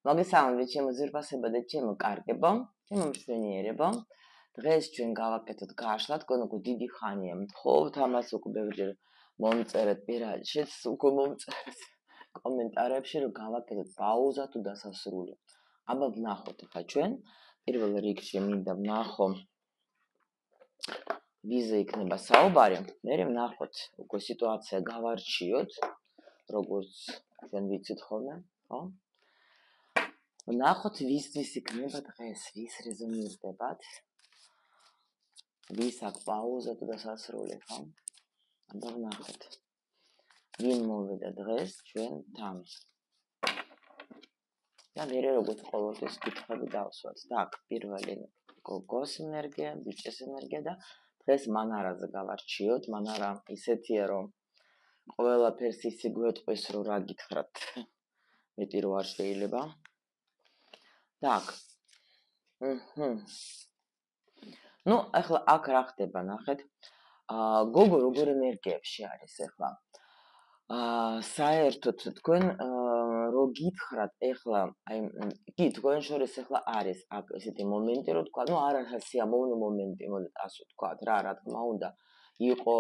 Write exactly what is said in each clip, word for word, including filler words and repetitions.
მოგესალმებით ჩემო ძვირფასებო და ჩემო კარგებო, ჩემო მშვენიერებო. დღეს ჩვენ გავაკეთოთ გაშლა, თქვენ უკვე დიდი ხანია მთხოვთ ამას, უკვე ბევრჯერ მომწერეთ პირადშიც, უკვე მომწერეთ კომენტარებში, რომ გავაკეთოთ პაუზა თუ დასასრული. აბა ვნახოთ ხა ჩვენ, პირველ რიგში მინდა ვნახო ვიზე იქნება საუბარი, მერე ვნახოთ უკვე სიტუაცია გავარჩიოთ, როგორც ჩვენ ვიცით ხოლმე, ხო? ვნახოთ ვისთვის იქნება დღეს, ვის რეზონირდებათ, ვის აქვს პაუზა თუ დასასრული, ხო? აბა ვნახოთ. ვინ მოვიდა დღეს ჩვენთან. და მერე როგორც ყოველთვის კითხვები დავსვათ. Так, პირველი გოგოს ენერგია, ბიჭის ენერგია და დღეს მანარაზე გავარჩიოთ, მანარა ისეთია, რომ ყველაფერს ისე გვეტყვის, რომ რა გითხრათ. მეტი რო არ შეიძლება. Так. ჰმ. Ну, ახლა აქ რა ხდება, ნახეთ. აა გოგო როგორ ენერგიებში არის ახლა? აა საერთოდ თქვენ რო გითხრათ ახლა, აი, კი, თქვენ შორის ახლა არის აქ ესეთი მომენტი, რომ თქვა, ну, არა სიამოვნო მომენტი, მოდით ასე ვთქვათ რა, რა თქმა უნდა, იყო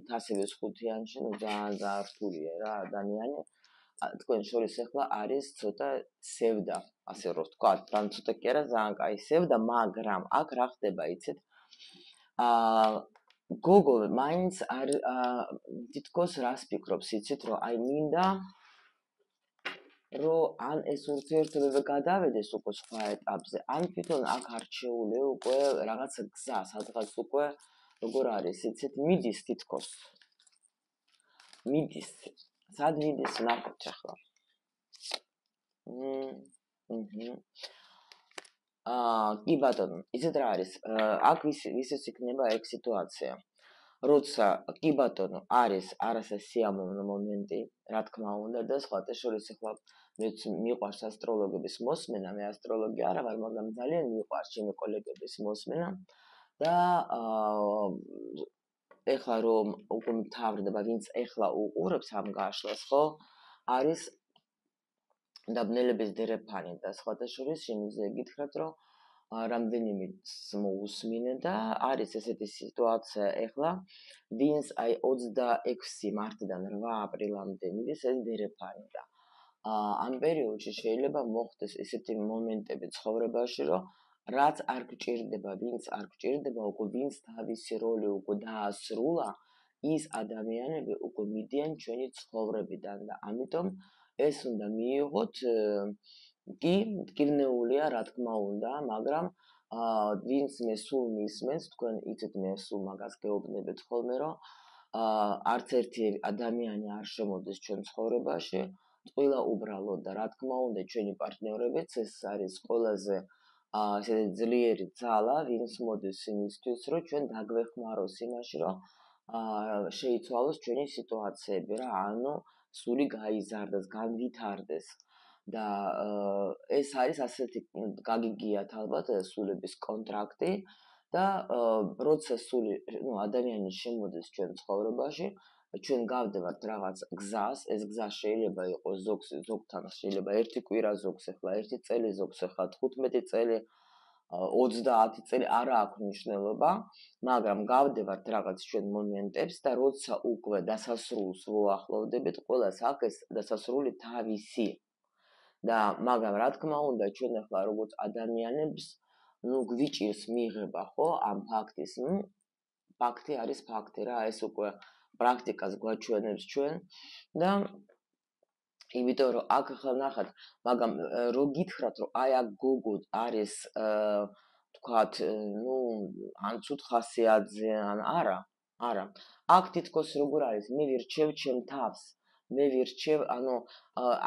თასების ხუთიანში, ну, ძალიან ძალიან რთულია რა ადამიანი. თქვენ შორის ახლა არის ცოტა სევდა, ასე რომ ვთქვათ, თან ცოტა კი არა, ძალიან კაი სევდა, მაგრამ აქ რა ხდება, იცით? აა გოგო მაინც არ თითქოს რას ფიქრობს, იცით, რომ აი მინდა რომ ან ეს ურთიერთობები გადავედეს უკვე სხვა ეტაპზე, ან თვითონ აქ არჩეული უკვე რაღაცა გზა, სადღაც უკვე როგორ არის, იცით, მიდის თითქოს. მიდის. სად მიდის, ნახოთ ახლა. მმ. აა, კი ბატონო, ისეთ რა არის, აქ ვისაც იქნება ეგ სიტუაცია. როცა კი ბატონო არის არასე სიამოვნო მომენტი, რა თქმა უნდა და სხვათა შორის ახლა მეც მიყვარს ასტროლოგების მოსმენა, მე ასტროლოგი არა ვარ, მაგრამ ძალიან მიყვარს ჩემი კოლეგების მოსმენა და აა ეხლა რომ უკვე მთავრდება, ვინც ეხლა უყურებს ამ გაშლას, ხო? არის დაბნელების დერეფანი და სხვათა შორის შემიძლია გითხრათ, რომ რამდენიმე მოусმინე და არის ესეთი სიტუაცია ეხლა, ვინც აი ოცდაექვსი მარტიდან რვა აპრილამდე მიდის ეს დერეფანი და ამ პერიოდში შეიძლება მოხდეს ესეთი მომენტები ცხოვრებაში, რომ რაც არ გჭირდება, ვინც არ გჭირდება, უკვე ვინც თავისი როლი უკვე დაასრულა, ის ადამიანები უკვე მიდიან ჩვენი ცხოვრებიდან და ამიტომ ეს უნდა მიიღოთ კი, მტკივნეულია, რა თქმა უნდა, მაგრამ აა ვინც მე სულ მისმენს, თქვენ იცით მე სულ მაგას გეუბნებით ხოლმე, რომ აა არც ერთი ადამიანი არ შემოდის ჩვენ ცხოვრებაში, ყველა უბრალოდ და რა თქმა უნდა, ჩვენი პარტნიორებიც ეს არის ყველაზე აა ესეთი ძლიერი ძალა, ვინც მოდის იმისთვის, რომ ჩვენ დაგვეხმაროს იმაში, რომ აა შეიცვალოს ჩვენი სიტუაციები რა, ანუ სული გაიზარდეს, განვითარდეს. და ეს არის ასეთი გაგიგიათ ალბათ სულების კონტრაქტი და როცა სული, ну, ადამიანი შემოდის ჩვენ ცხოვრებაში, ჩვენ გავდევართ რაღაც გზას, ეს გზა შეიძლება იყოს ზოგს ზოგთან შეიძლება ერთი კვირა ზოგს ახლა ერთი წელი ზოგს ახლა თხუთმეტი წელი ოცდაათი წელი არა აქვს მნიშვნელობა, მაგრამ გავდევართ რაღაც ჩვენ მომენტებს და როცა უკვე დასასრულს ვუახლოვდებით, ყველას აქვს ეს დასასრული თავისი. და მაგრამ რა თქმა უნდა ჩვენ ახლა როგორც ადამიანებს ნუ გვიჭირს მიღება ხო ამ ფაქტის, ნუ ფაქტი არის ფაქტი რა, ეს უკვე პრაქტიკას გვაჩვენებს ჩვენ და იმიტომ რომ აქ ახლა ნახეთ, მაგრამ რო გითხრათ რომ აი აქ გოგო არის თქვათ, ნუ ან ცუდ ხასიათზე ან არა, არა. აქ თითქოს როგორ არის, მე ვირჩევ ჩემ თავს. მე ვირჩევ, ანუ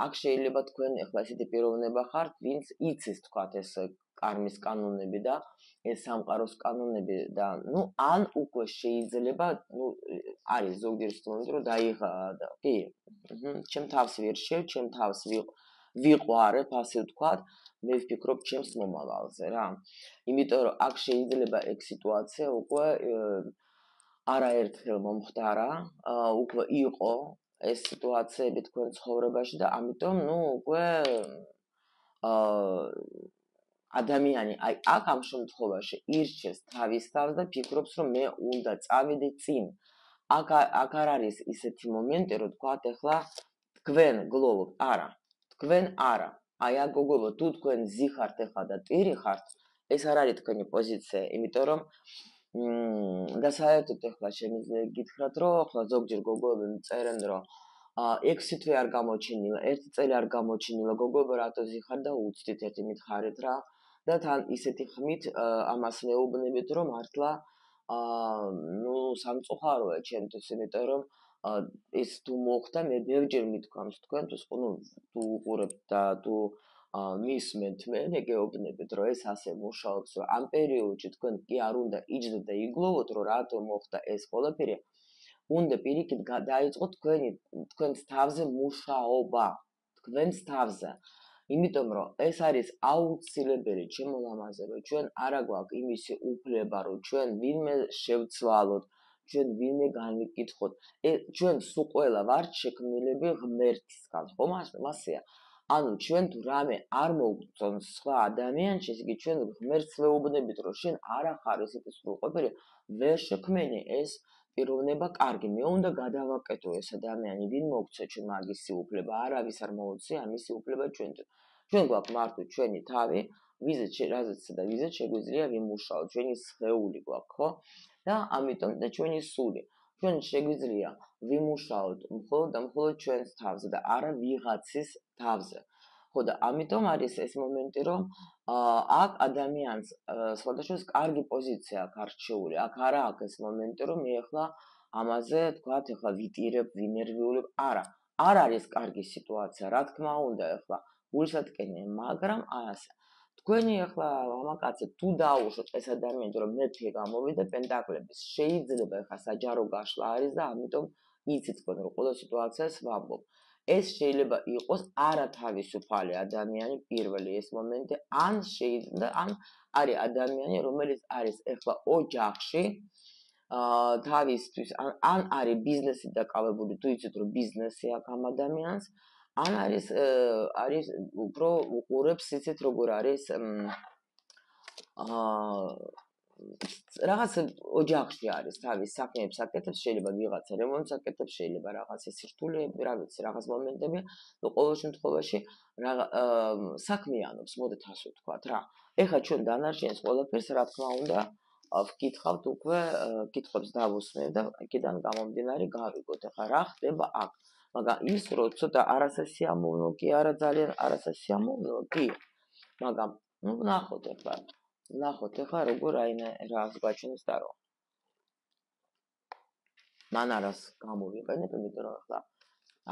აქ შეიძლება თქვენ ახლა ესეთი პიროვნება ხართ, ვინც იცის თქვათ ეს კარმის კანონები და ეს სამყაროს კანონები და ნუ ან უკვე შეიძლება, ნუ არის ზოგიერთ მომენტში რომ დაიღა და კი, ჩემ თავს ვირჩევ, ჩემ თავს ვიყვარებ, ასე ვთქვათ, მე ვფიქრობ ჩემს მომავალზე რა. იმიტომ რომ აქ შეიძლება ეგ სიტუაცია უკვე არაერთხელ მომხდარა, უკვე იყო ეს სიტუაციები თქვენ ცხოვრებაში და ამიტომ, ну, უკვე ადამიანი აი აქ ამ შემთხვევაში ირჩევს თავის თავს და ფიქრობს, რომ მე უნდა წავიდე წინ. აქ აქ არ არის ისეთი მომენტი, რომ თქვათ ახლა თქვენ გლოვობთ, არა. თქვენ არა. აი აქ გოგოებო, თუ თქვენ ზიხართ ახლა და ტირი ხართ, ეს არ არის თქვენი პოზიცია, იმიტომ რომ და საერთოდ ახლა შემიძლია გითხრათ, რომ ახლა ზოგჯერ გოგოები წერენ, რომ ექვსი თვე არ გამოჩინილა, ერთი წელი არ გამოჩინილა, გოგოებო რატო ზიხარ და უცდით ერთი მითხარით რა და თან ისეთი ხმით ამას მეუბნებით, რომ მართლა ნუ სამწუხაროა ჩემთვის, იმიტომ რომ ეს თუ მოხდა, მე ბევრჯერ მithქვამს თქვენთვის, ნუ თუ უყურებთ და თუ მისმენთ მე მეგეუბნებით, რომ ეს ასე მუშაობს, რომ ამ პერიოდში თქვენ კი არ უნდა იჯდეთ და იგლოვოთ, რომ რატო მოხდა ეს ყველაფერი. უნდა პირიქით დაიწყოთ თქვენი თქვენს თავზე მუშაობა, თქვენს თავზე. იმიტომ რომ ეს არის აუცილებელი ჩემო ლამაზე, რომ ჩვენ არა გვაქვს იმისი უფლება, რომ ჩვენ ვინმე შევცვალოთ, ჩვენ ვინმე განვიკითხოთ. ჩვენ სულ ყველა ვართ შექმნილები ღმერთისგან, ხო მასეა. ანუ ჩვენ თუ რამე არ მოგწონს სხვა ადამიანში, ესე იგი ჩვენ ღმერთს ვეუბნებით, რომ შენ არა ხარ ესეთი სრულყოფილი, ვერ შექმენი ეს პიროვნება კარგი, მე უნდა გადავაკეთო ეს ადამიანი, ვინ მოგცე ჩვენ მაგისი უფლება, არავის არ მოუწია ამისი უფლება ჩვენთვის. ჩვენ გვაქვს მარტო ჩვენი თავი, ვიზეთ რაზეც და ვიზეთ შეგვიძლია ვიმუშაოთ, ჩვენი სხეული გვაქვს, ხო? და ამიტომ და ჩვენი სული. ჩვენ შეგვიძლია ვიმუშაოთ მხოლოდ და მხოლოდ ჩვენს თავზე და არა ვიღაცის თავზე. ხო და ამიტომ არის ეს მომენტი, რომ აქ ადამიანს სხვადასხვა კარგი პოზიცია აქვს არჩეული. აქ არა აქვს ეს მომენტი, რომ მე ახლა ამაზე თქვათ, ახლა ვიტირებ, ვინერვიულებ, არა. არ არის კარგი სიტუაცია, რა თქმა უნდა, ახლა გულსატკენია, მაგრამ ასე. თქვენი ახლა მამაკაცი თუ დაუშვოთ ეს ადამიანი, რომ მეფე გამოვიდა პენტაკლების, შეიძლება ახლა საჯარო გაშლა არის და ამიტომ იცით თქვენ რომ ყველა სიტუაციას ვამბობ. ეს შეიძლება იყოს არათავისუფალი ადამიანი პირველი ეს მომენტი, ან შეიძლება ან არის ადამიანი, რომელიც არის ახლა ოჯახში, თავისთვის, ან არის ბიზნესით დაკავებული, თუ იცით რომ ბიზნესი აქვს ამ ადამიანს, ან არის არის უფრო უყურებს იცით როგორ არის რაღაც ოჯახში არის თავის საქმეებს აკეთებს, შეიძლება ვიღაცა რემონტს აკეთებს, შეიძლება რაღაც სირთულეები, რა ვიცი, რაღაც მომენტები, ნუ ყოველ შემთხვევაში საქმიანობს, მოდით ასე ვთქვათ რა. ეხლა ჩვენ დანარჩენს ყველაფერს რა თქმა უნდა ვკითხავთ უკვე, კითხვებს დავუსმევ და აქედან გამომდინარე გავიგოთ, ეხლა რა ხდება აქ. მაგრამ ის რო ცოტა არასასიამოვნო კი არა ძალიან არასასიამოვნო კი, მაგრამ ნუ ნახოთ ეხლა ნახოთ ეხლა როგორ აინე რას გაჩნს და რო მანარას გამოვიყენებ, იმიტომ რომ ეხლა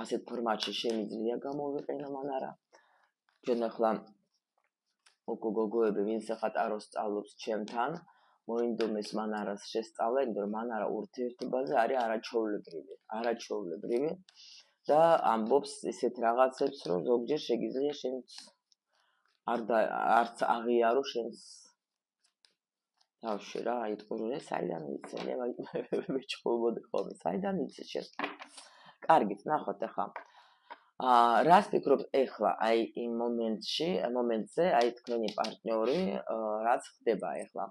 ასეთ ფორმატში შემიძლია გამოვიყენო მანარა. ჩვენ ეხლა უკვე გოგოები ვინც ეხლა ტაროს სწავლობს ჩემთან, მოინდომეს მანარას შესწავლა, იმიტომ რომ მანარა ურთიერთობაზე არის არაჩვეულებრივი, არაჩვეულებრივი და ამბობს ისეთ რაღაცებს, რომ ზოგჯერ შეგიძლია შენც არ არც აღიარო შენს თავში რა, იტყურე, საიდან იცი, მეჩხუბოდი ხოლმე, საიდან იცი შენ? კარგით, ნახოთ ახლა. აა, რას ფიქრობ ახლა, აი იმ მომენტში, მომენტზე, აი თქვენი პარტნიორი, რაც ხდება ახლა?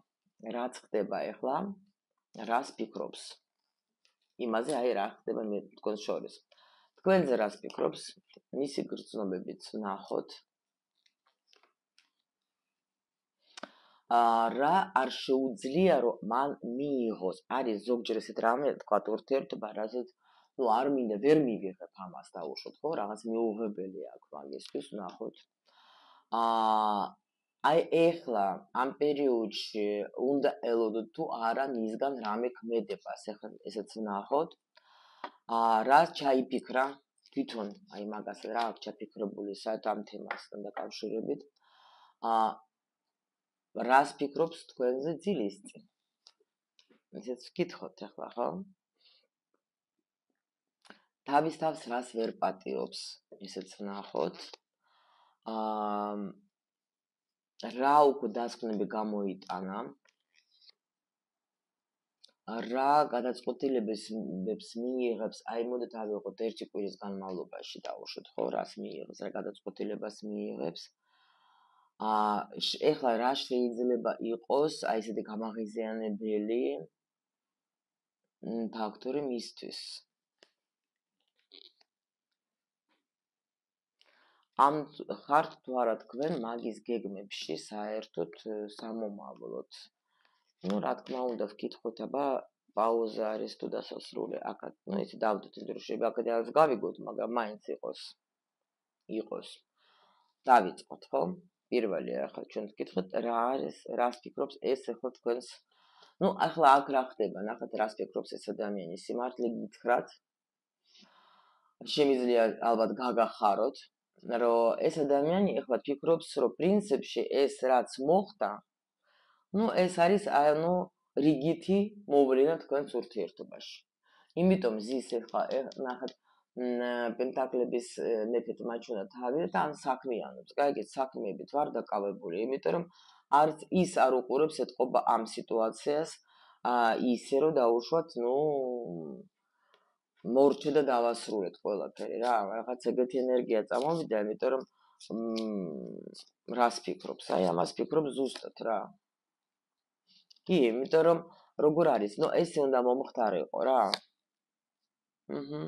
რაც ხდება ახლა? რას ფიქრობს? იმაზე, აი რა ხდება მე თქვენს შორის. თქვენზე რას ფიქრობს? მისი გრძნობებით ნახოთ. რა არ შეუძლია რომ მან მიიღოს. არის ზოგჯერ ესეთ რამე, თქვა ურთიერთობა, რასაც ნუ არ მინდა, ვერ მივიღებ ამას დაუშვოთ, ხო? რაღაც მიუღებელი აქვს მაგისთვის, ნახოთ. აა აი ეხლა ამ პერიოდში უნდა ელოდოთ თუ არა მისგან რამე ქმედებას, ეხლა ესეც ნახოთ. აა რა ჩაიფიქრა თვითონ, აი მაგას რა აქვს ჩაფიქრებული საერთოდ ამ თემასთან დაკავშირებით. აა რას ფიქრობს თქვენზე ძილის წინ? ესეც ვკითხოთ ახლა, ხო? თავის თავს რას ვერ პატიობს, ესეც ნახოთ. აა რა უკვე დასკვნები გამოიტანა? რა გადაწყვეტილებებს მიიღებს, აი მოდით ავიღოთ ერთი კვირის განმავლობაში დავუშვოთ, ხო, რას მიიღებს, რა გადაწყვეტილებას მიიღებს. ეხლა რა შეიძლება იყოს აი ესეთი გამაღიზიანებელი ფაქტორი მისთვის? ამ ხართ თუ არა თქვენ მაგის გეგმებში საერთოდ სამომავლოდ. ну, რა თქმა უნდა, ვკითხოთ, აბა პაუზა არის თუ დასასრული აქ, ну, იცი დავდოთ იმ დროში, აქედან გავიგოთ, მაგრამ მაინც იყოს. იყოს. დავიწყოთ, ხო? პირველი ახლა ჩვენ ვკითხოთ, რა არის, რას ფიქრობს ეს ახლა თქვენს. ну, ახლა აქ რა ხდება? ნახეთ, რას ფიქრობს ეს ადამიანი, სიმართლე გითხრათ. შემიძლია ალბათ გაგახაროთ, რომ ეს ადამიანი ახლა ფიქრობს, რომ პრინციპში ეს რაც მოხდა, ну, ეს არის, ანუ რიგითი მოვლენა თქვენს ურთიერთობაში. იმიტომ ზის ახლა ნახეთ, პენტაკლების მეფეთ მაჩვენა თავი და ამ საქმიანობს. გაიგეთ, საქმეებით ვარ დაკავებული, იმიტომ რომ არც ის არ უყურებს ეთყობა ამ სიტუაციას, ისე რომ დაუშვათ, ну, მორჩე და დავასრულეთ ყველაფერი რა, რაღაც ეგეთი ენერგია წამოვიდა, იმიტომ რომ რას ფიქრობს? აი ამას ფიქრობს ზუსტად რა. კი, იმიტომ რომ როგორ არის? ну, ეს უნდა მომხდარიყო რა. აჰა.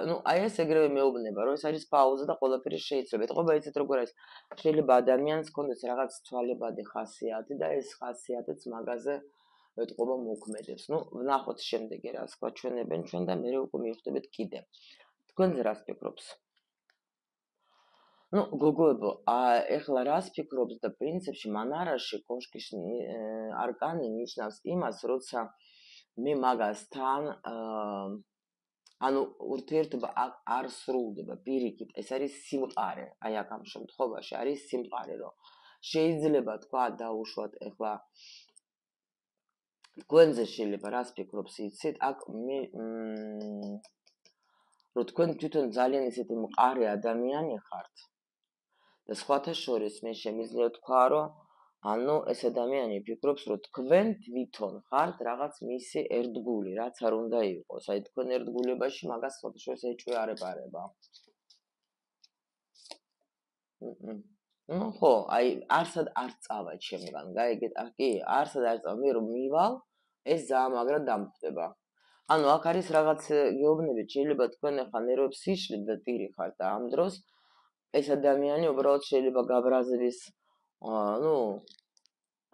ну, აი ეს ეგრევე მეუბნება, რომ ეს არის პაუზა და ყველაფერი შეიძლება. ეთყობა იცით როგორ არის? შეიძლება ადამიანს ჰქონდეს რაღაც ცვალებადი ხასიათი და ეს ხასიათიც მაგაზე ეთყობა მოქმედებს. ну, ვნახოთ შემდეგი რას გვაჩვენებენ ჩვენ და მე უკვე მივხვდებით კიდე. თქვენ რას ფიქრობს? ну, გოგოებო, ეხლა რას ფიქრობს და პრინციპში მანარაში კოშკის არკანი ნიშნავს იმას, როცა მე მაგასთან ანუ ურთიერთობა არ სრულდება პირიქით, ეს არის სიმყარე, აი აქ ამ შემთხვევაში არის სიმყარე, რომ შეიძლება თქვა დაუშვათ ეხლა თქვენზე შეიძლება რას ფიქრობს იცით, აქ მე რომ თქვენ თვითონ ძალიან ისეთი მყარი ადამიანი ხართ და სხვათა შორის მე შემიძლია თქვა, რომ ანუ ეს ადამიანი ფიქრობს, რომ თქვენ თვითონ ხართ რაღაც მისი ერთგული, რაც არ უნდა იყოს. აი თქვენ ერთგულებაში მაგას სხვათა შორის ეჭვიარება. ну, ხო, აი არსად არ წავა ჩემგან, გაიგეთ? კი, არსად არ წავა, მე რომ მივალ, ეს ძალიან მაგრად დამხვდება. ანუ აქ არის რაღაც გეუბნები, შეიძლება თქვენ ახლა ნერვებს იშლით და ტირი ხართ და ამ დროს ეს ადამიანი უბრალოდ შეიძლება გაბრაზების, ну,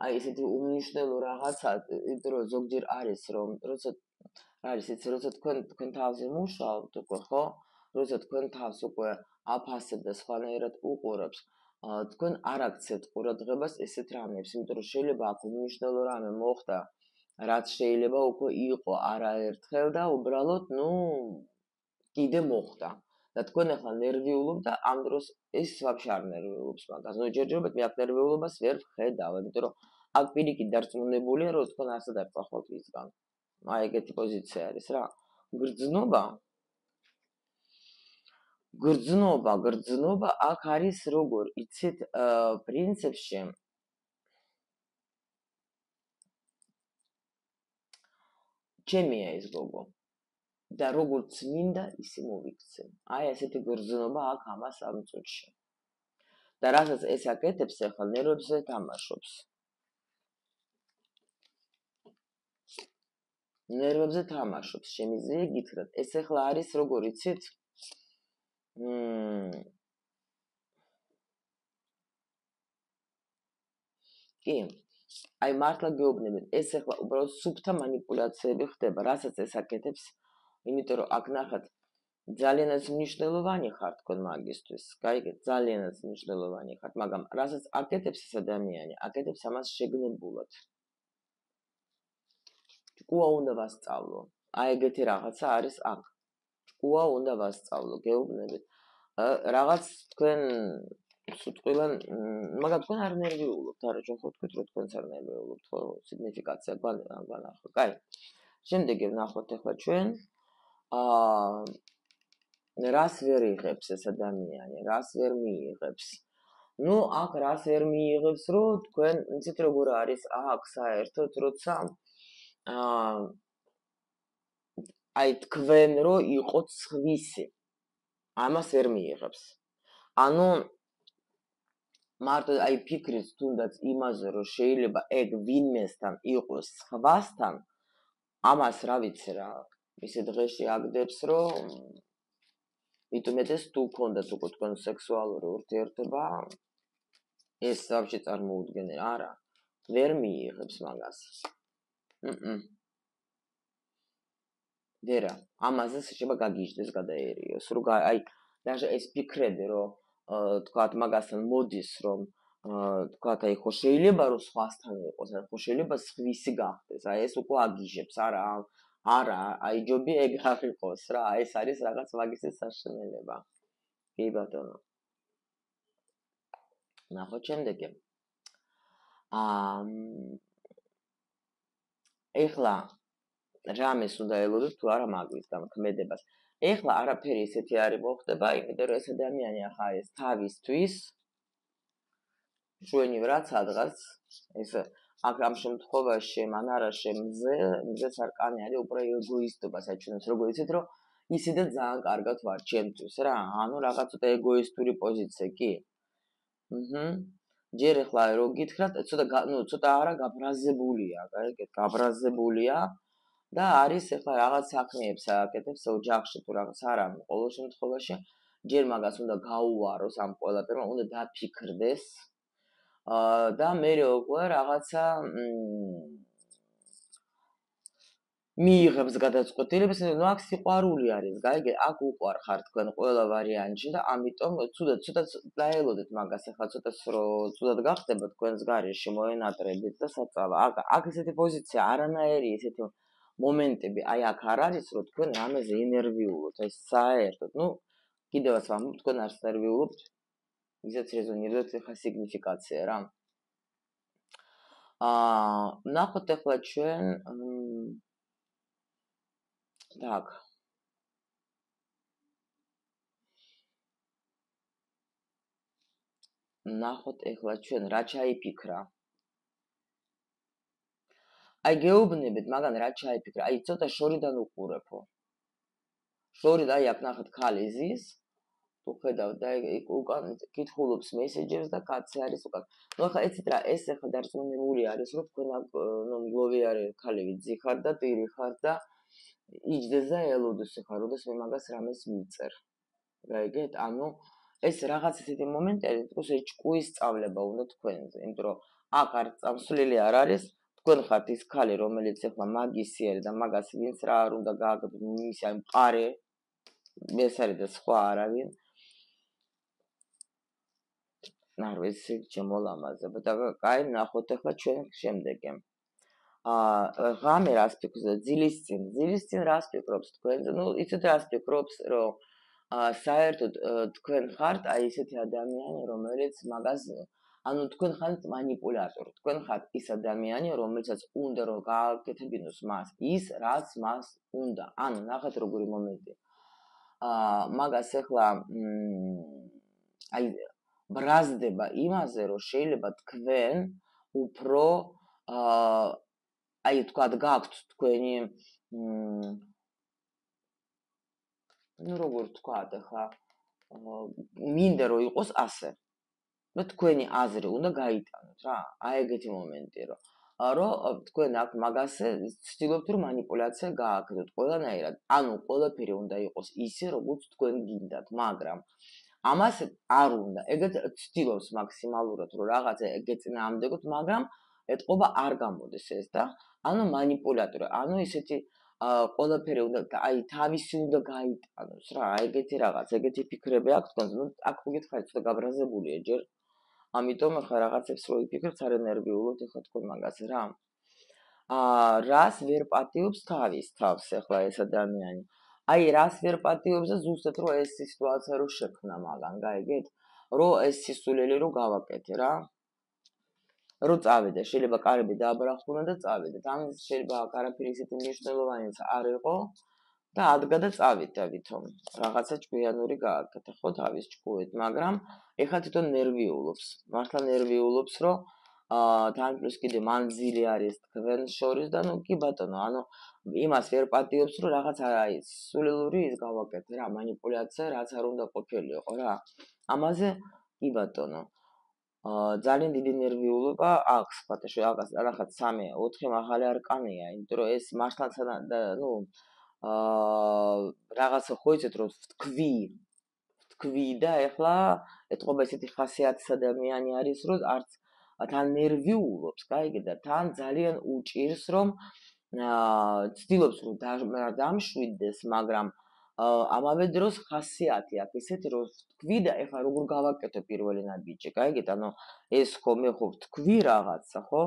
აი ესეთი უმნიშვნელო რაღაცა, იმიტომ რომ ზოგჯერ არის რომ როცა არის იცი როცა თქვენ თქვენ თავზე მუშაობთ უკვე, ხო? როცა თქვენ თავს უკვე აფასებთ და სხვანაირად უყურებთ, თქვენ არ აქცევთ ყურადღებას ესეთ რამებს, იმიტომ რომ შეიძლება აქ უმნიშვნელო რამე მოხდა, რაც შეიძლება უკვე იყო არაერთხელ და უბრალოდ, ну, კიდე მოხდა. და თქვენ ახლა ნერვიულობთ და ამ დროს ეს ვაფშე არ ნერვიულობს მაგას. ну, ჯერჯერობით მე აქ ნერვიულობას ვერ ვხედავ, იმიტომ რომ აქ პირიქით დარწმუნებულია, რომ თქვენ არსად არ წახვალთ ისგან. აი ეგეთი პოზიცია არის რა. გრძნობა გრძნობა, გრძნობა აქ არის როგორ, იცით, პრინციპში ჩემია ეს გოგო. და როგორც მინდა, ისე მოვიქცე. აი ესეთი გრძნობა აქ ამას ამ წუთში. და რასაც ეს აკეთებს, ახლა ნერვებზე თამაშობს. ნერვებზე თამაშობს, შემიძლია გითხრათ. ეს ახლა არის როგორ, იცით? მმ კი, აი მართლა გეუბნებით, ეს ახლა უბრალოდ სუფთა манипуляციები ხდება, რასაც ეს აკეთებს, იმიტომ რომ აქ ნახეთ, ძალიანაც მნიშვნელოვანი ხარ თქვენ მაგისთვის, გაიგეთ, ძალიანაც მნიშვნელოვანი ხარ, მაგრამ რასაც აკეთებს ეს ადამიანი, აკეთებს ამას შეგნებულად. ჭკუა უნდა ვასწავლო. აი ეგეთი რაღაცა არის აქ. ჭკუა უნდა ვასწავლო, გეუბნებით. რაღაც თქვენ სიტყვიდან, მაგრამ თქვენ არ ნერვიულობთ, არა, ჩვენ ხო თქვით, რომ თქვენც არ ნერვიულობთ, ხო, სიგნიფიკაცია განახლა. კაი. შემდეგი ვნახოთ ახლა ჩვენ. აა რას ვერ იღებს ეს ადამიანი, რას ვერ მიიღებს. ну, აქ რას ვერ მიიღებს, რომ თქვენ, იცით როგორ არის აქ საერთოდ, როცა აა აი თქვენ რო იყოთ სხვისი. ამას ვერ მიიღებს. ანუ მარტო აი ფიქრიც თუნდაც იმაზე რომ შეიძლება ეგ ვინმესთან იყოს სხვასთან ამას რა ვიცი რა ისე დღეში აგდებს რომ მithumetes თუ გქონდათ უკვე თქვენ სექსუალური ურთიერთობა ეს ვაფშე წარმოუდგენელი არა ვერ მიიღებს მაგას მმ ვერა ამაზე შეიძლება გაგიჟდეს გადაერიოს რომ აი даже ეს ფიქრები რომ თქვათ მაგასთან მოდის რომ თქვათ აი ხო შეიძლება რომ სხვასთან იყოს აი ხო შეიძლება სხვისი გახდეს აი ეს უკვე აგიჟებს არა არა აი ჯობია ეგ არ იყოს რა ეს არის რაღაც მაგისის საშინელება კი ბატონო ნახოთ შემდეგი აა ეხლა რამეს უნდა ელოდოთ თუ არა მაგის გამქმედებას ეხლა არაფერი ისეთი არ მოხდება იმიტომ რომ ეს ადამიანი ახლა ეს თავისთვის ჩვენი რაც ადგას ეს აქ ამ შემთხვევაში მანარაში მზე მზეს არკანი არის უფრო ეგოისტობას აჩვენებს როგორ იცით რომ ისედაც ძალიან კარგად ვარ ჩემთვის რა ანუ რაღაც ცოტა ეგოისტური პოზიცია კი აჰა ჯერ ახლა რო გითხრათ ცოტა ნუ ცოტა არა გაბრაზებულია გაიგეთ გაბრაზებულია და არის ახლა რაღაც საქმეებს აკეთებს ოჯახში თუ რაღაც არა ყოველ შემთხვევაში ჯერ მაგას უნდა გაუვაროს ამ ყველაფერმა უნდა დაფიქრდეს და მე უკვე რაღაცა მიიღებს გადაწყვეტილებას, ნუ აქ სიყვარული არის, გაიგე, აქ უყვარ ხარ თქვენ ყველა ვარიანტში და ამიტომ ცუდად ცუდად დაელოდეთ მაგას, ახლა ცოტას რო ცუდად გახდება თქვენს გარეშე მოენატრებით და საწავა. აქ აქ ესეთი პოზიცია არანაირი ესეთი მომენტები აი აქ არ არის, რომ თქვენ რამეზე ენერგიულობთ, აი საერთოდ, ნუ კიდევაც ვამბობ, თქვენ არც ნერვიულობთ. ისეც რეზონირებთ ახლა სიგნიფიკაცია რა. აა, ნახოთ ახლა ჩვენ так. ნახოთ ახლა ჩვენ რა ჩაიფიქრა. აი გეუბნებით, მაგან რა ჩაიფიქრა. აი ცოტა შორიდან უყურებო. შორიდან აი აქ ნახეთ ხალი ზის. თუ ხედავ და უკან კითხულობს მესეჯერს და კაცი არის უკან. ნუ ახლა ეცით რა, ეს ახლა დარწმუნებული არის, რომ თქვენ ნუ მგლოვიარე ქალები ძიხარ და ტირი ხარ და იჯდეს და ელოდეს ახლა, როდეს მე მაგას რამეს მიწერ. გაიგეთ? ანუ ეს რაღაც ესეთი მომენტები, თქოს ეს ჭკუის სწავლება უნდა თქვენზე, იმიტომ რომ აქ არ წამსვლელი არ არის, თქვენ ხართ ის ქალი, რომელიც ახლა მაგისი არის და მაგას ვინც რა არ უნდა გააკეთოს, მისი აი მყარე ეს არის და სხვა არავინ. ნარო ეს ჩემო ლამაზება და კაი ნახოთ ახლა ჩვენ შემდეგი. აა ღამე რას ფიქრობს და ძილის წინ, ძილის წინ რას ფიქრობს თქვენ? ნუ იცით რას ფიქრობს, რომ აა საერთოდ თქვენ ხართ აი ესეთი ადამიანი, რომელიც მაგას ანუ თქვენ ხართ მანიპულატორი, თქვენ ხართ ის ადამიანი, რომელსაც უნდა რომ გააკეთებინოს მას ის, რაც მას უნდა. ანუ ნახეთ როგორი მომენტი. აა მაგას ახლა აი ბრაზდება იმაზე, რომ შეიძლება თქვენ უფრო აა აი თქვათ გაქვთ თქვენი ну როგორ თქვათ ახლა მინდა რომ იყოს ასე. და თქვენი აზრი უნდა გაიტანოთ რა. აი ეგეთი მომენტი რომ რომ თქვენ აქ მაგასე ცდილობთ რომ манипуляცია გააკეთოთ ყველანაირად. ანუ ყველაფერი უნდა იყოს ისე როგორც თქვენ გინდათ, მაგრამ ამას არ უნდა. ეგეთ ცდილობს მაქსიმალურად რომ რაღაცა ეგეწინააღმდეგოთ, მაგრამ ეთყობა არ გამოდის ეს და ანუ манипуляტორი, ანუ ისეთი ყველაფერი უნდა აი თავისი უნდა გაიტანოს რა, ეგეთი რაღაც, ეგეთი ფიქრები აქვს თქვენ. ნუ აქ მოგითხარით ცოტა გაბრაზებულია ჯერ. ამიტომ ახლა რაღაცებს რო იფიქრებთ, არ ენერგიულობთ ახლა თქვენ მაგას რა. აა რას ვერ პატიობს თავის თავს ახლა ეს ადამიანი. აი რას ვერ პატიობს და ზუსტად რო ეს სიტუაცია რო შექმნა მაგან, გაიგეთ? რო ეს სისულელი რო გავაკეთე რა. რო წავიდე, შეიძლება კარები დააბრახუნა და წავიდეთ. ამ შეიძლება არაფერი ისეთი მნიშვნელოვანიც არ იყო და ადგა და წავიდა ვითომ. რაღაცა ჭკვიანური გააკეთა ხო თავის ჭკუით, მაგრამ ეხლა თვითონ ნერვიულობს. მართლა ნერვიულობს, რომ აა თან პლუს კიდე მანძილი არის თქვენ შორის და ნუ კი ბატონო, ანუ იმას ვერ პატიობს, რომ რაღაც აი სულელური ის გავაკეთე რა, манипуляция, რაც არ უნდა ყოფილიყო რა. ამაზე კი ბატონო. აა ძალიან დიდი ნერვიულობა აქვს, ფათაშო, რაღაც რაღაც სამი, ოთხი მაღალი არკანია, იმიტომ რომ ეს მართლაც ნუ აა რაღაცა ხო იცით რომ თქვი თქვი და ეხლა ეთყობა ესეთი ხასიათის ადამიანი არის, რომ არც თან ნერვიულობს, კაიგე და თან ძალიან უჭირს, რომ აა ცდილობს რომ დამშვიდდეს, მაგრამ ამავე დროს ხასიათი აქვს ისეთი, რომ თქვი და ეხლა როგორ გავაკეთო პირველი ნაბიჯი, კაიგე, ანუ ეს ხო მე ხო თქვი რაღაცა, ხო?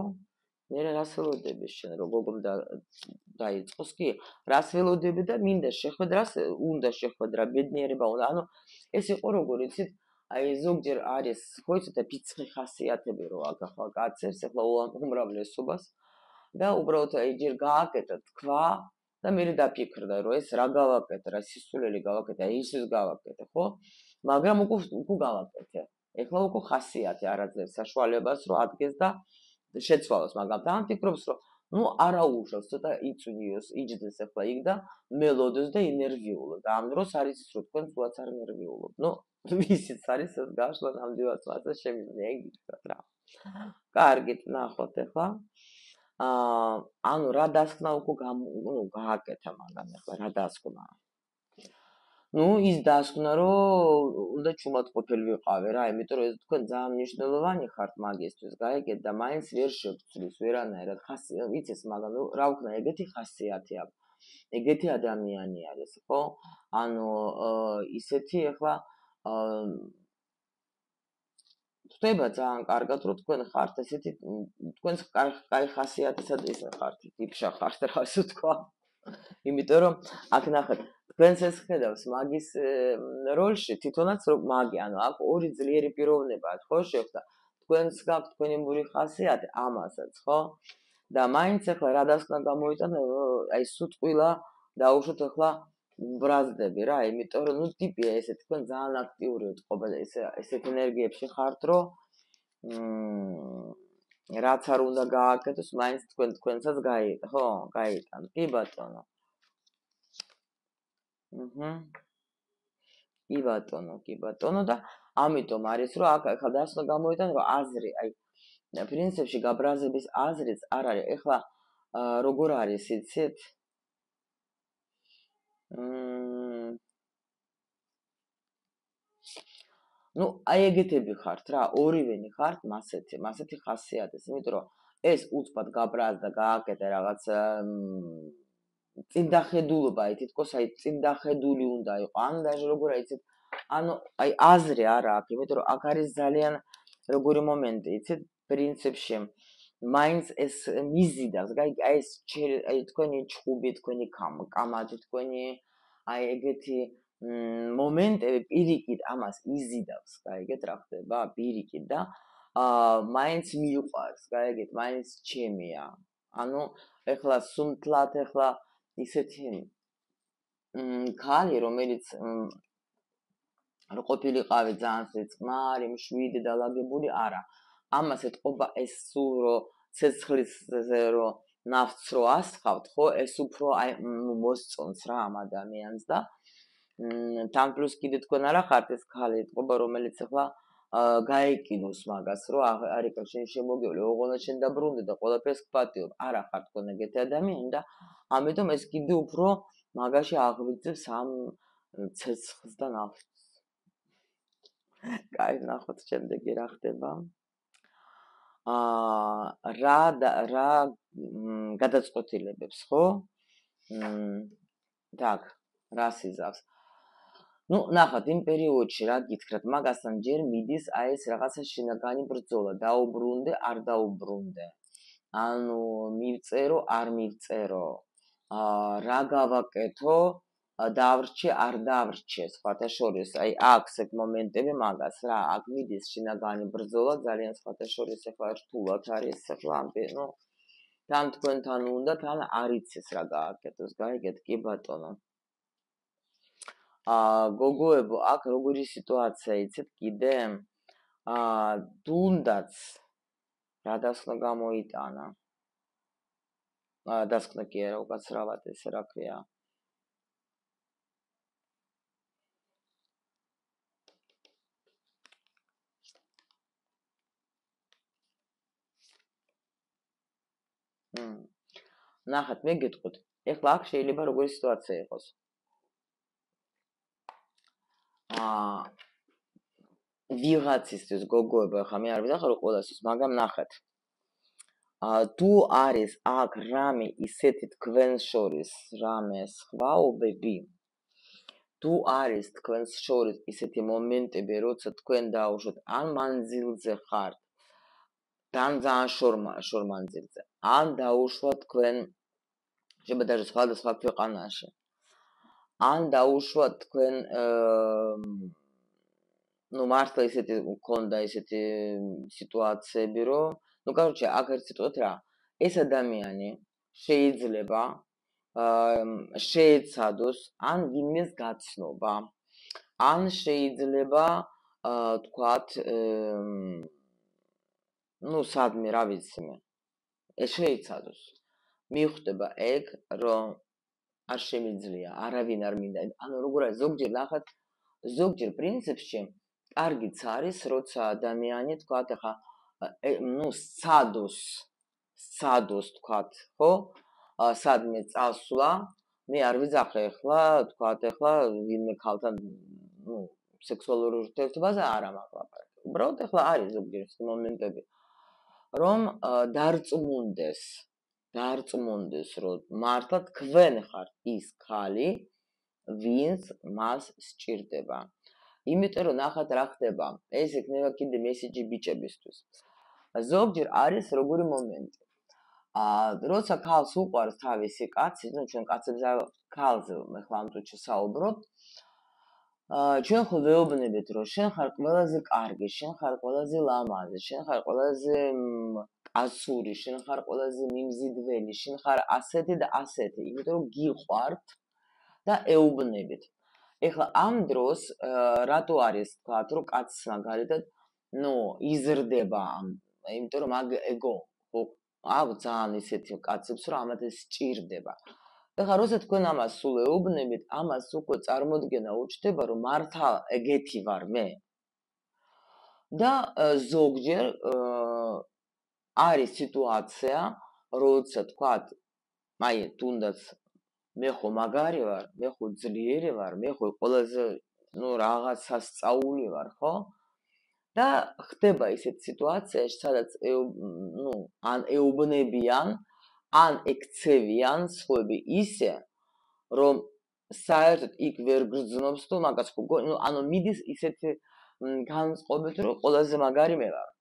მე რას ველოდები შენ რომ გოგომ და დაიწყოს კი რას ველოდები და მინდა შეხვედრას უნდა შეხვედრა ბედნიერება უნდა ანუ ეს იყო როგორ იცით აი ზოგჯერ არის ხო იცით ფიცხი ხასიათები რო აგახლა კაცებს ეხლა უმრავლესობას და უბრალოდ აი ჯერ გააკეთა თქვა და მე დაფიქრდა რომ ეს რა გავაკეთე რა სისულელი გავაკეთე აი ისის გავაკეთე ხო მაგრამ უკვე უკვე გავაკეთე ეხლა უკვე ხასიათი არაძლევს საშუალებას რომ ადგეს და შეცვალოს, მაგრამ თან ფიქრობს, რომ ნუ არა უშავს, ცოტა იწვიოს, იჯდეს ახლა იქ და მელოდეს და ინერვიულო. და ამ დროს არის ის, რომ თქვენ თუაც არ ნერვიულობ. ნუ ისიც არის ეს გაშლა ნამდვილად მასა შემიძლია იგიჩქრათ რა. კარგით, ნახოთ ახლა. აა, ანუ რა დასკვნა უკვე ნუ გააკეთა მაგამ ახლა რა დასკვნა. ну ის დასკვნა რომ უნდა ჩუმად ყოფილი ვიყავე რა იმიტომ რომ ეს თქვენ ძალიან მნიშვნელოვანი ხართ მაგისთვის გაიგეთ და მაინც ვერ შეგწლის ვერანაირად ხასი ვიცეს მაგრამ ნუ რა ვქნა ეგეთი ხასიათი აქვს ეგეთი ადამიანი არის ხო ანუ ისეთი ახლა ხდება ძალიან კარგად რომ თქვენ ხართ ესეთი თქვენს კაი ხასიათისა და ისე ხართ ტიპშა ხართ რა ასე თქვა იმიტომ რომ აქ ნახეთ თქვენს ეს ხედავს მაგის როლში თვითონაც რომ მაგი ანუ აქ ორი ძლიერი პიროვნებაა ხო შეხვდა თქვენს გაქვთ თქვენი მური ხასიათი ამასაც ხო და მაინც ახლა რა დასკვნა გამოიტანა აი სუტყვილა დაუშვოთ ახლა ბრაზდები რა იმიტომ რომ ნუ ტიპია ესე თქვენ ძალიან აქტიური ვთყობა და ესე ესეთ ენერგიებში ხართ რომ მ რაც არ უნდა გააკეთოს მაინც თქვენ თქვენსაც გაიგეთ ხო გაიგეთ კი ბატონო აჰა კი ბატონო კი ბატონო და ამიტომ არის რომ აქ ახლა დასკვნა გამოიტანა რომ აზრი აი პრინციპში გაბრაზების აზრიც არ არის ეხლა როგორ არის იცით მ ну აი ეგეთები ხართ რა ორივენი ხართ მასეთი მასეთი ხასიათის იმიტომ რომ ეს უცბად გაბრაზდა გააკეთე რაღაც წინდახედულობა აი თითქოს აი წინდახედული უნდა იყო ან даже როგორ აიცით ანუ აი აზრი არა აქვს იმიტომ რომ აქ არის ძალიან როგორი მომენტი იცით პრინციპში მაინც ეს მიზიდავს აი ეს აი თქვენი ჩხუბი თქვენი კამათი თქვენი აი ეგეთი მომენტები პირიქით ამას იზიდავს გაიგეთ რა ხდება პირიქით და აა მაინც მიყვარს გაიგეთ მაინც ჩემია ანუ ეხლა სუმთლად ეხლა ისეთი ქალი რომელიც რო ყოფილიყავი ძალიან წყნარი მშვიდი და ლაგებული არა ამას ეთყობა ეს სულ რო ცეცხლისზე რო ნავთს რო ასხავთ ხო ეს უფრო აი მოსწონს რა ამ ადამიანს და თან პლუს კიდე თქვენ არა ხართ ეს ქალი ეთყობა რომელიც ახლა გაეკინოს მაგას რომ არ იქ შენ შემოგევლე ოღონდ შენ დაბრუნდი და ყველაფერს გპატიობ არა ხარ თქვენ ეგეთი ადამიანი და ამიტომ ეს კიდე უფრო მაგაში აღვიძებს ამ ცეცხლს და ნავთს კაი ნახოთ შემდეგი რა ხდება აა რა რა გადაწყვეტილებებს ხო так რას იზავს ну ნახოთ იმ პერიოდში რა გითხრათ მაგასთან ჯერ მიდის აი ეს რაღაცა შინაგანი ბრძოლა დაუბრუნდე არ დაუბრუნდე ანუ მივწერო არ მივწერო აა რა გავაკეთო დავრჩე არ დავრჩე სხვათა შორის აი აქ ეს მომენტები მაგას რა აქ მიდის შინაგანი ბრძოლა ძალიან სხვათა შორის ახლა რთულად არის ახლა ნუ თან თქვენთან უნდა თან არ იცის რა გააკეთოს გაიგეთ კი ბატონო აა გოგოებო აქ როგორი სიტუაცია იცით კიდე აა თუნდაც რა დასკვნა გამოიტანა დასკვნა კი არა, უკაცრავად ესე რა ქვია. ნახეთ, მე გეტყვით. ეხლა აქ შეიძლება როგორი სიტუაცია იყოს. აა ვიღაცისთვის გოგოება ხა მე არ ვიდახარო ყველასთვის, მაგრამ ნახეთ. აა თუ არის აქ რამე ისეთი თქვენს შორის რამე სხვაობები, თუ არის თქვენს შორის ისეთი მომენტები, როცა თქვენ დაუშვათ ან მანძილზე ხართ, თან ძალიან შორ მანძილზე, ან დაუშვათ თქვენ შეიძლება даже სხვადასხვა ქვეყანაში. ან დაუშვათ თქვენ ну მართლა ისეთი მქონდა ისეთი სიტუაციები, რომ ну короче, აქ ერთ სიტყვით რა, ეს ადამიანი შეიძლება შეეცადოს ან ვინმეს გაცნობა, ან შეიძლება თქვათ ну სადმე რა ვიცი მე, ეს შეეცადოს. მიხვდება ეგ, რომ არ შემიძლია, არავინ არ მინდა. ანუ როგორ არის ზოგჯერ ნახეთ, ზოგჯერ პრინციპში კარგიც არის, როცა ადამიანი თქვათ ახლა ну სცადოს, სცადოს თქვათ, ხო? სადმე წასვლა, მე არ ვიძახე ახლა, თქვათ ახლა ვინმე ქალთან ну სექსუალურ ურთიერთობაზე არ ამაყლაპარაკე. უბრალოდ ახლა არის ზოგჯერ ეს მომენტები, რომ დარწმუნდეს დარწმუნდეს, რომ მართლა თქვენ ხართ ის ქალი, ვინც მას სჭირდება. იმიტომ რომ ნახეთ რა ხდება, ეს იქნება კიდე მესიჯი ბიჭებისთვის. ზოგჯერ არის როგორი მომენტი. აა როცა ქალს უყვარს თავისი კაცი, ну ჩვენ კაცებზე ქალზე ახლა ამ დროში საუბრობ. აა ჩვენ ხო ვეუბნებით, რომ შენ ხარ ყველაზე კარგი, შენ ხარ ყველაზე ლამაზი, შენ ხარ ყველაზე ასური, შენ ხარ ყველაზე მიმზიდველი, შენ ხარ ასეთი და ასეთი, იმიტომ რომ გიყვართ და ეუბნებით. ეხლა ამ დროს რატო არის თქვათ, რომ კაცს მაგალითად, ну, იზრდება, იმიტომ რომ მაგ ეგო, ხო, აქვს ძალიან ისეთი კაცებს, რომ ამათ ეს სჭირდება. ეხლა როცა თქვენ ამას სულ ეუბნებით, ამას უკვე წარმოდგენა უჩნდება, რომ მართლა ეგეთი ვარ მე. და ზოგჯერ არის სიტუაცია, როცა თქვათ, აი, თუნდაც მე ხო მაგარი ვარ, მე ხო ძლიერი ვარ, მე ხო ყველაზე, ну, რაღაცა სწაული ვარ, ხო? და ხდება ისეთი სიტუაცია, სადაც, ну, ან ეუბნებიან, ან ეკცევიან სხვები ისე, რომ საერთოდ იქ ვერ გრძნობს თუ მაგას ხო, ну, ანუ მიდის ისეთი განწყობით, რომ ყველაზე მაგარი მე ვარ.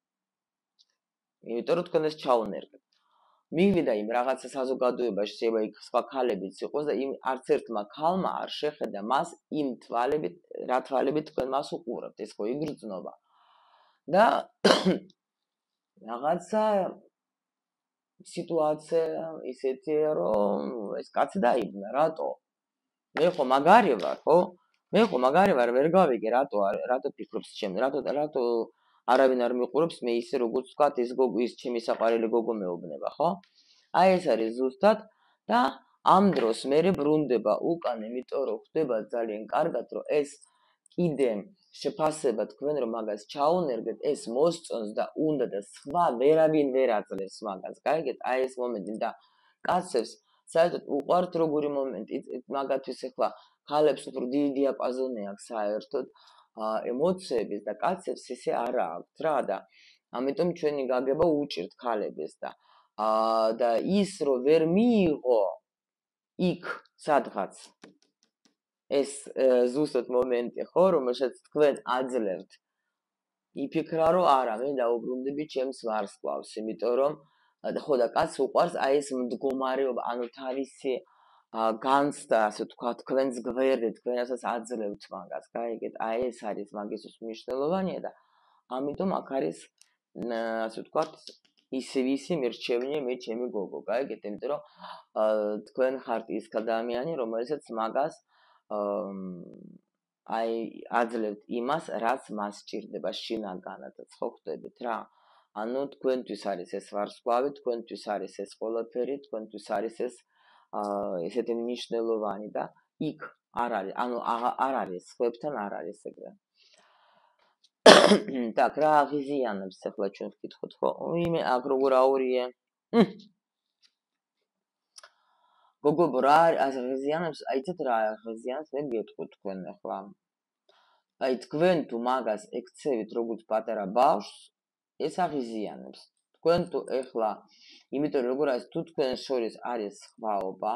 იმიტომ რომ თქვენ ეს ჩაუნერგეთ. მივიდა იმ რაღაცა საზოგადოებაში, შეიძლება იქ სხვა ქალებიც იყოს და იმ არც ერთმა ქალმა არ შეხედა მას იმ თვალებით, რა თვალებით თქვენ მას უყურებთ, ეს ხო იგრძნობა. და რაღაცა სიტუაცია ისეთია, რომ ეს კაცი დაიბნა, რატო? მე ხო მაგარი ვარ, ხო? მე ხო მაგარი ვარ, ვერ გავიგე, რატო რატო ფიქრობს ჩემ, რატო რატო არავინ არ მიყურებს, მე ისე როგორც ვთქვათ, ეს გოგო ის ჩემი საყვარელი გოგო მეუბნება, ხო? აი ეს არის ზუსტად და ამ დროს მე ბრუნდება უკან, იმიტომ რომ ხდება ძალიან კარგად, რომ ეს კიდე შეფასება თქვენ რომ მაგას ჩაუნერგეთ, ეს მოსწონს და უნდა და სხვა ვერავინ ვერ აძლევს მაგას. გაიგეთ? აი ეს მომენტი და კაცებს საერთოდ უყვართ როგორი მომენტი, მაგათთვის ახლა ქალებს უფრო დიდი დიაპაზონი აქვს საერთოდ ემოციების და კაცებს ისე არ აქვს რა და ამიტომ ჩვენი გაგება უჭირთ ქალებს და აა და ის რომ ვერ მიიღო იქ სადღაც ეს ზუსტად მომენტი ხო რომელსაც თქვენ აძლევთ იფიქრა რომ არა მე დაუბრუნდები ჩემს ვარსკვლავს იმიტომ რომ ხო და კაცს უყვარს აი ეს მდგომარეობა ანუ თავისი განცდა ასე თქვა თქვენს გვერდით თქვენასაც აძლევთ მაგას გაიგეთ აი ეს არის მაგისთვის მნიშვნელოვანია და ამიტომ აქ არის ასე ვთქვათ ისე ვისი მერჩევნია მე ჩემი გოგო გაიგეთ იმიტომ რომ თქვენ ხართ ის ადამიანი რომელსაც მაგას აი აძლევთ იმას რაც მას სჭირდება შინაგანადაც ხო ხდებით რა ანუ თქვენთვის არის ეს ვარსკვლავი, თქვენთვის არის ეს ყველაფერი, თქვენთვის არის ეს ესეთი მნიშვნელოვანი და იქ არ არის, ანუ არ არის, სხვებთან არ არის ეგრე. так, რა აღიზიანებს ახლა ჩვენ ვკითხოთ ხო? იმე აქ როგორ აურიე? გოგო რა აღიზიანებს? აიცეთ რა აღიზიანებს? მე გეტყვი თქვენ ახლა. აი თქვენ თუ მაგას ექცევით როგორც პატარა ბავშვს, ეს აღიზიანებს. თქვენ თუ ახლა, იმიტომ როგორ არის თუ თქვენ შორის არის სხვაობა,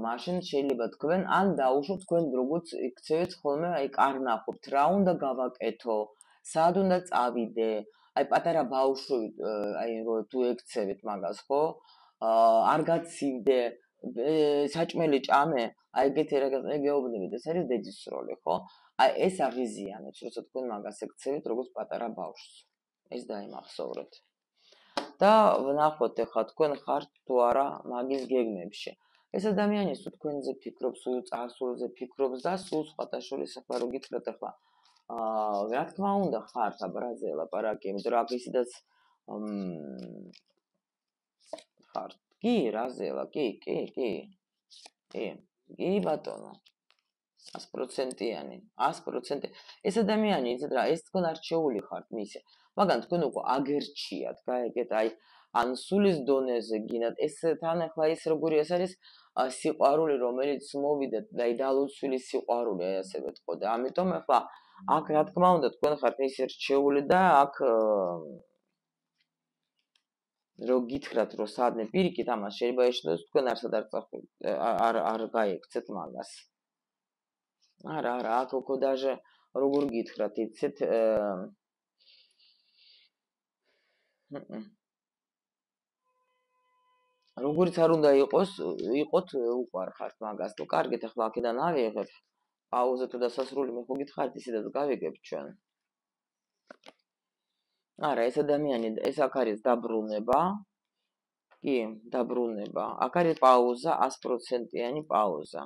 მაშინ შეიძლება თქვენ ან დაუშვოთ თქვენ როგორც იქცევით ხოლმე აი კარნახობთ რა უნდა გავაკეთო, სად უნდა წავიდე, აი პატარა ბავშვი აი რო თუ ექცევით მაგას ხო? არ გაცივდე, საჭმელი ჭამე, აი ეგეთი რაღაც გეუბნებით, ეს არის დედის როლი, ხო? აი ეს აღიზიანებს, როცა თქვენ მაგას ექცევით როგორც პატარა ბავშვს. ეს დაიმახსოვრეთ. და ვნახოთ ახლა თქვენ ხართ თუ არა მაგის გეგმებში. ეს ადამიანი თუ თქვენზე ფიქრობს, სულ წარსულზე ფიქრობს და სულ სხვათა შორის ახლა რო გითხრათ ახლა აა რა თქმა უნდა ხართ აბრაზე ლაპარაკი, იმიტომ რომ აქ ისედაც ხართ. კი, რაზელა, კი, კი, კი. კი, კი ბატონო. ას პროცენტიანი, ას პროცენტი. ეს ადამიანი იცით რა, ეს თქვენ არჩეული ხართ მისე. მაგრამ თქვენ უკვე აგერჩიათ, გაიგეთ, აი ან სულის დონეზე გინდათ, ეს თან ახლა ის როგორი ეს არის სიყვარული, რომელიც მოვიდეთ და აი დალოცვილი სიყვარული, აი ასე ვეთქო და ამიტომ ახლა აქ რა თქმა უნდა თქვენ ხართ ის რჩეული და აქ რო გითხრათ რომ სადმე პირიქით ამას შეიძლება ეშინოდეთ თქვენ არსად არ წახულ არ არ გაიქცეთ მაგას. არა, არა, აქ უკვე даже როგორ გითხრათ, იცით როგორც არ უნდა იყოს, იყოთ უყარ ხართ მაგას. ნუ კარგით, ახლა აქედან ავიღებ. პაუზა თუ დასასრული მე ხო გითხარით, ისედაც გავიგებთ ჩვენ. არა, ეს ადამიანი, ეს აქ არის დაბრუნება. კი, დაბრუნება. აქ არის პაუზა, ას პროცენტიანი პაუზა.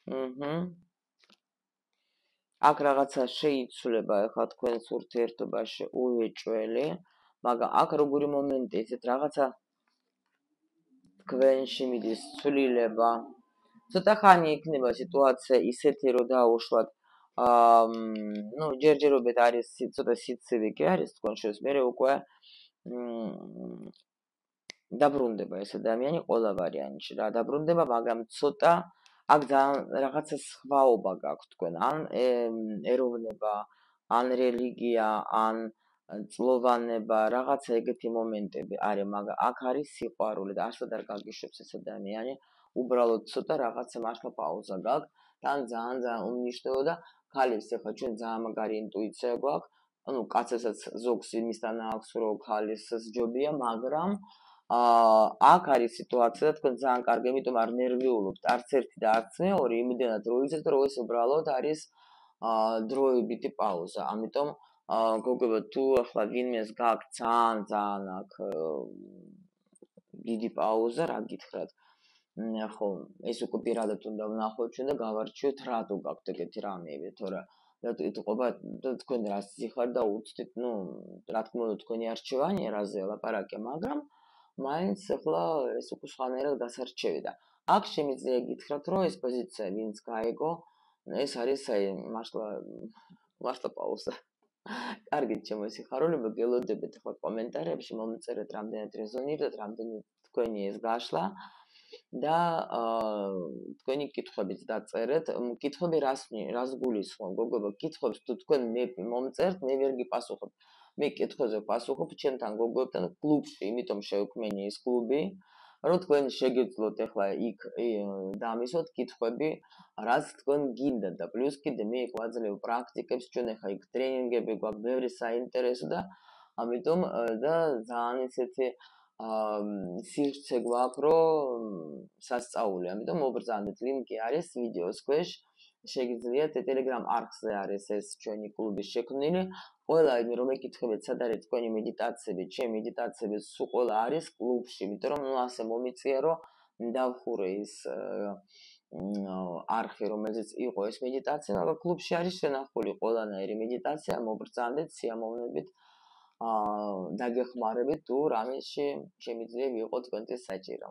აჰა. აქ რაღაცა შეიცვლება ახლა თქვენს ურთიერთობაში უეჭველი, მაგრამ აქ როგორი მომენტი, ისეთ რაღაცა თქვენში მიდის ცვლილება. ცოტა ხანი იქნება სიტუაცია ისეთი, რომ დაუშვათ აა ნუ ჯერჯერობით არის ცოტა სიცივი კი არის თქვენ შორის, მე უკვე დაბრუნდება ეს ადამიანი ყველა ვარიანტში რა დაბრუნდება, მაგრამ ცოტა აქ ძალიან რაღაცა სხვაობა გაქვთ თქვენ, ან ეროვნება, ან რელიგია, ან წლოვანება, რაღაცა ეგეთი მომენტები არის, მაგრამ აქ არის სიყვარული და ასად არ გაგიშვებს ეს ადამიანი, უბრალოდ ცოტა რაღაცა მართლა პაუზა გაქვს, თან ძალიან ძალიან უმნიშვნელო და ქალის ახლა ჩვენ ძალიან მაგარი ინტუიცია გვაქვს, ანუ კაცესაც ზოგს იმისთან აქვს, რომ ქალის სჯობია, მაგრამ აა აქ არის სიტუაცია და თქვენ ძალიან კარგი, იმიტომ არ ნერვიულობთ არც ერთი და არც მეორე, იმდენად რომ იცით, რომ ეს უბრალოდ არის აა დროებითი პაუზა. ამიტომ აა გოგო თუ ახლა ვინმეს გაქვს ძალიან ძალიან აქ დიდი პაუზა, რა გითხრათ? ხო, ეს უკვე პირადად უნდა ვნახოთ ჩვენ და გავარჩიოთ რატო გაქვთ ეგეთი რამეები, თორე იტყობა თქვენ რას იხართ და უცდით, ნუ რა თქმა უნდა თქვენი არჩევანია რაზე ლაპარაკე, მაგრამ მაინც ახლა ეს უკვე სხვანაირად გასარჩევი და აქ შემიძლია გითხრათ, რომ ეს პოზიცია ვინც გაეგო, ეს არის აი მართლა მართლა პაუზა. კარგით, ჩემო სიხარულებო, გელოდებით ახლა კომენტარებში მომწერეთ რამდენად რეზონირდათ, რამდენად თქვენი ეს გაშლა და თქვენი კითხვებიც დაწერეთ. კითხვები რას რას გულისხმობ, გოგო, კითხვებს თუ თქვენ მე მომწერთ, მე ვერ გიპასუხებ. მე კითხვებზე პასუხობ ჩემთან გოგოებთან კლუბში, იმიტომ შევქმენი ეს კლუბი, რომ თქვენ შეგეძლოთ ახლა იქ დამისვოთ კითხვები, რაც თქვენ გინდათ და პლუს კიდე მე ვაძლევ პრაქტიკებს, ჩვენ ახლა იქ ტრენინგები გვაქვს, ბევრი საინტერესო და ამიტომ და ძალიან ისეთი სივრცე გვაქვს, რომ სასწაული, ამიტომ მობრძანდეთ, ლინკი არის ვიდეოს ქვეშ. შეგიძლიათ Telegram არხზე არის ეს ჩვენი კლუბი შექმნილი. ყველა იმ რომ ეკითხებთ, სად არის თქვენი მედიტაციები, ჩემი მედიტაციები სულ ყველა არის კლუბში, იმიტომ რომ ნუ ასე მომიწია, რომ დავხურე ის არხი, რომელზეც იყო ეს მედიტაცია, მაგრამ კლუბში არის შენახული ყველანაირი მედიტაცია, მობრძანდეთ, სიამოვნებით აა დაგეხმარებით თუ რამეში შემიძლია ვიყო თქვენთვის საჭირო.